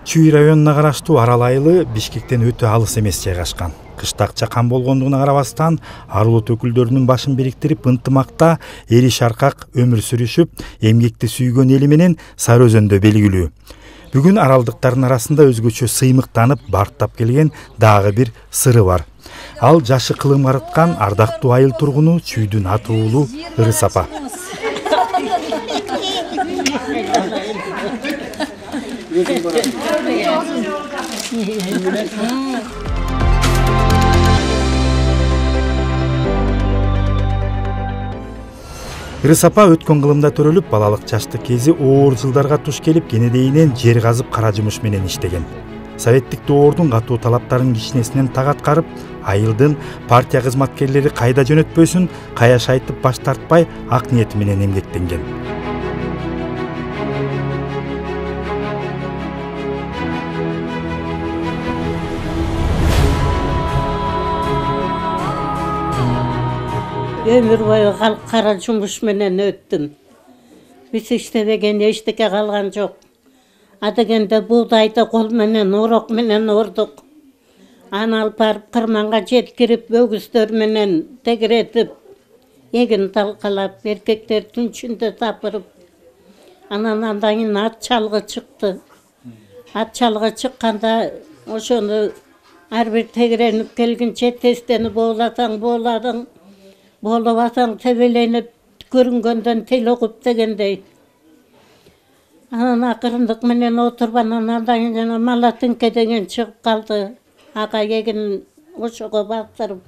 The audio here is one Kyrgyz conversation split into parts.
Чүй районуна караштуу Арал айылы Бишкектен өтө алыс эмес жайгашкан. Кыштак чакан болгондугуна карабастан ар улут өкүлдөрүнүн башын бириктирип ынтымакта эри шаркак өмүр сүрүшүп, эмгекти сүйгөн эли менен Сары Өзөндө белгилүү. Бүгүн аралдыктардын арасында өзгөчө сыймыктанып, бартап келген дагы бир сыры бар. Ал жашы кылым карыткан ардактуу айыл тургуну Чүйдүн аты уулу Ырыс апа. Ырыс апа өткөн кылымда төрөлүп, балалык жаштык кези оор жылдарга туш келип, кенедейинен жер казып кара жумуш менен иштеген. Советтик доордун катуу талаптарын кичинесинен так аткарып, айылдын партия кызматкерлери кайда жөнөтпөсүн каяш айтып баш тартпай, ак ниети менен эмгектенген. Өмүр бою кара жумуш менен өттүм. Биз иштебеген эчтеке калган жок. Адегенде буудайды кол менен, урок менен ордук. Аны алып барып кырманга жеткирип, өгүздөр менен тегеретип, эгин талкалап, эркектер түнчүндө тапырып. Андан кийин ат чалгы чыкты. Ат чалгы чыкканда ошону ар бир тегеренип келгенче тестени бооласаң бооладың. Болобасаң тебеленип, көрүнгөндөн тил окуп дегендей. Анан акырындык менен отуруп, андан кийин Малатынке деген чыгып калды. Ага эгин ошого бастырып.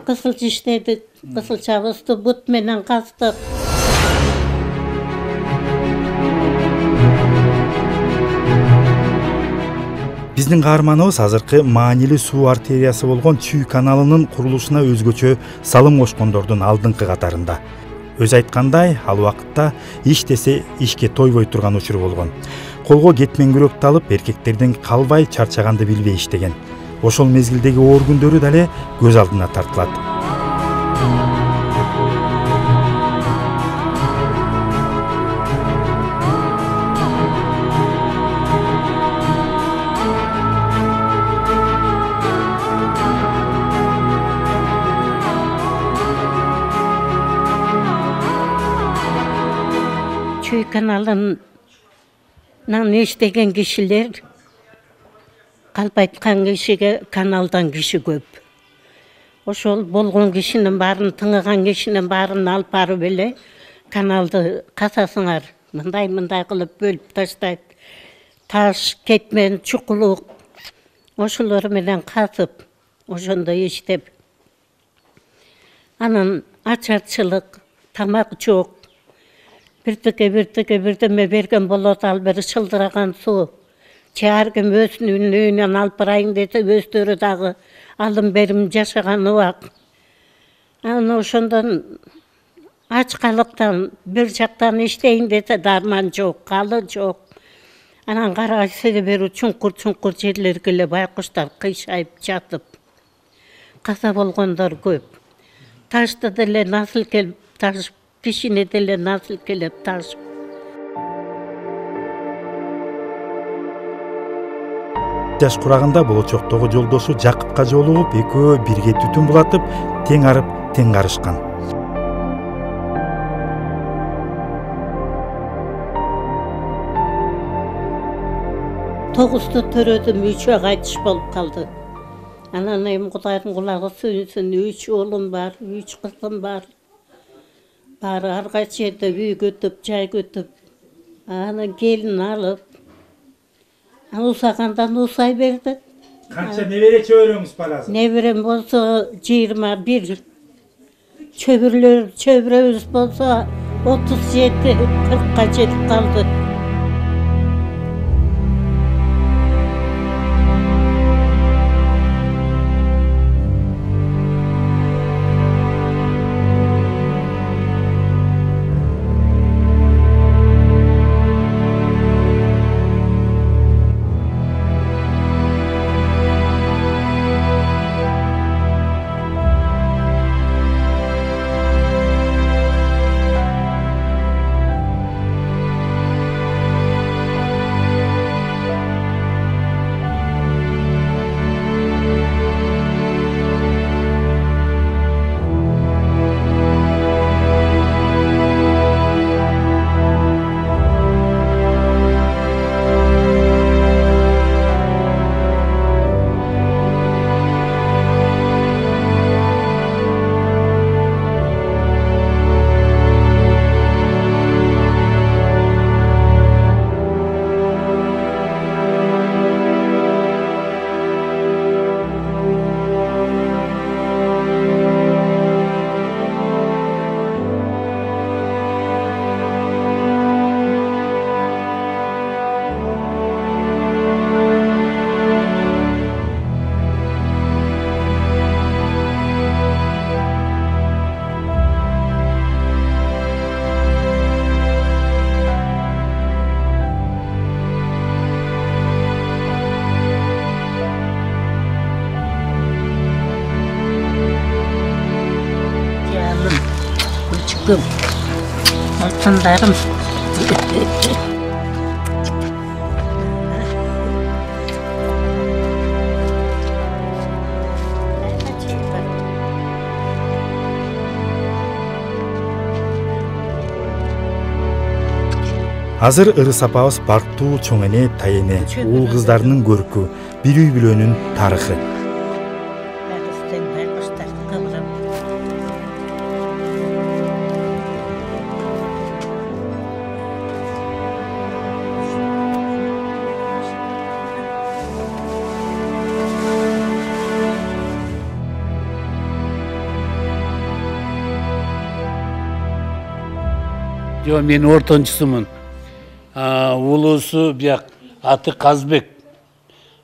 Кысылча иштедик, кысылчабызды бут менен кастык. Биздин каарманыбыз азыркы маанилүү суу артериясы болгон Чүй каналынын курулушуна өзгөчө салым кошкондордун алдыңкы катарында. Өз айткандай, ал убакытта иш десе ишке тойбой турган учур болгон. Колго кетмен күрөктү алып, эркектерден калбай, чарчаганды билбей иштеген. Ошол мезгилдеги оор күндөрү дале көз алдына тартылат. Чүй каналынан иштеген кишилер калп айткан кишиге каналдан киши көп. Ошол болгон кишинин баарын, тыңыган кишинин баарын алып барып эле каналды касасыңар, мындай кылып бөлүп таштайт. Таш, кетмен, чукулук ошолор менен касып, ошондо иштеп. Анан ачарчылык, тамак жок. Бирдеме берген болот, ал бир шылдыраган суу. Ар ким өзүнүн үйүнөн алып барайын десе, өздөрү дагы алым берим жашаган убак. Анан ошондон ачкалыктан бир жактан иштейин десе, дарман жок, калы жок. Анан кара себери чуңкур жерлерге эле байкуштар кыйшайып жатып. Каза болгондор көп. Ташты деле насыл келип ташып, кишини деле насыл келип ташып. Жаш курагында болочоктогу жолдошу Жакыпка жолугуп, экөө бирге түтүн булатып, тең арып, тең карышкан. Тогузду төрөдүм, 3 кайтыш болуп калды. Анан эми Кудайдын кулагы сүйүнсүн, 3 уулум бар, 3 кызым бар. Баары ар кайсы жерде үй көтүп, жай көтүп. Анан келин алып, усагандан усай берди. Канча небере чөбөрөңүз бар азыр? Неберем болсо 21. Чөбүрөбүз болсо 37-40ка жетип калды. күлкүм, алтындарым. Азыр Ырыс апабыз бактуу чоң эне, тайене, уул кыздарынын көркү, бир үй бүлөнүн тарыхы. Жо, мен ортончусумун. Улуусу бияк аты Казбек.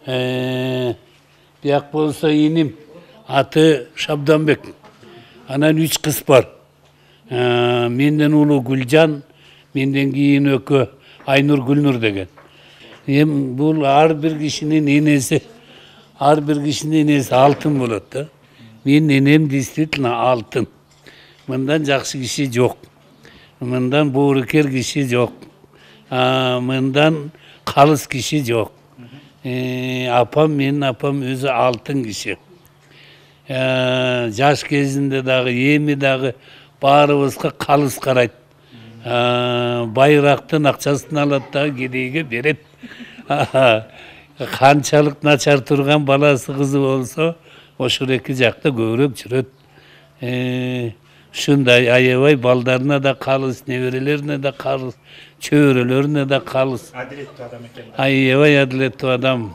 Бияк болсо иним аты Шабданбек. Анан 3 кыз бар. Менден улуу Гүлжан, менден кийин экөө Айнур, Гүлнур деген. Бул ар бир кишинин энеси алтын болот да. Менин энем действительно алтын. Мындан жакшы киши жок. Мындан боорукер киши жок. Мындан калыс киши жок. Менин апам өзү алтын киши. Жаш кезинде дагы, эми дагы баарыбызга калыс карайт. Байрактын акчасын алат дагы кедейге берет. Канчалык начар турган баласы кызы болсо, ошол эки жакта көбүрөөк жүрөт. Ушундай аябай балдарына да калыс, неберелерине да калыс, чөбөрөлөрүнө да калыс. Адилеттүү адам экен. Аябай адилеттүү адам.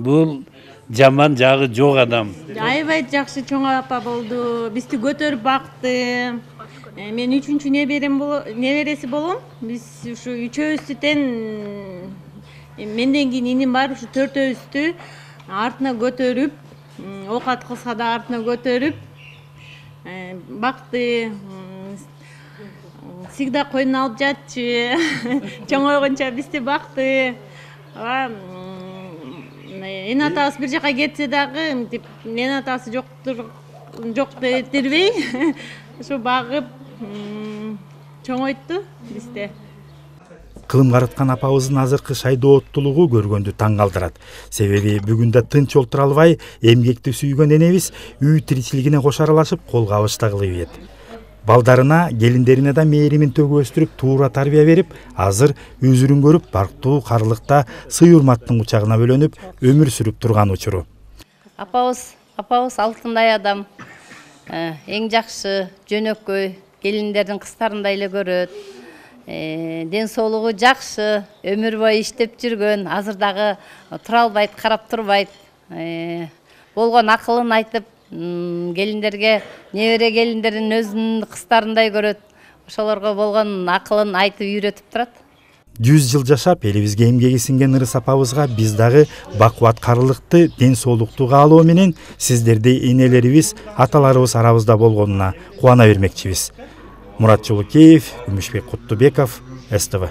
Бул жаман жагы жок адам. Аябай жакшы чоң апа болду. Бизди көтөрүп бакты. Мен 3-чү небереси болом. Биз ушу 3-өбүздү тең менден кийин иним бар, ушу 4-өбүздү артына көтөрүп, оокат кылса да артына көтөрүп бакты. Всегда койнуна алып жатчы. Чоңойгонча бизди бакты. Эне атабыз бир жака кетсе дагы, эне атасы жок дедирбей, ушу багып чоңойту бизде. Кылым караткан апабыздын азыркы шайдооттулугу көргөндү таң калтырат. Себеби бүгүн да тынч олтура албай, эмгекти сүйгөн энебиз үй тиричилигине кош аралашып, кол кабышта кылып ийет. Балдарына, келиндерине да мээримин төгүп өстүрүп, туура тарбия берип, азыр өзүрүн көрүп, бактуу карылыкта сый урматтын кучагына бөлөнүп, өмүр сүрүп турган учуру. Апабыз алтындай адам. Эң жакшы, жөнөкөй, келиндердин кыздарындай эле көрөт. Ден соолугу жакшы, өмүр бою иштеп жүргөн, азыр дагы тура албайт, карап турбайт. Болгон акылын айтып, келиндерге, небере келиндерин өзүнүн кыздарындай көрөт. Ошолорго болгон акылын айтып үйрөтүп турат. 100 жыл жашап, элибизге эмгеги сиңген Ырыс апабызга биз дагы бакубат карылыкты, ден соолукту каалоо менен сиздердей энелерибиз, аталарыбыз арабызда болгонуна кубана бермекчибиз. Мурат Жолукеев, Күмүшбек Куттубеков, СТВ.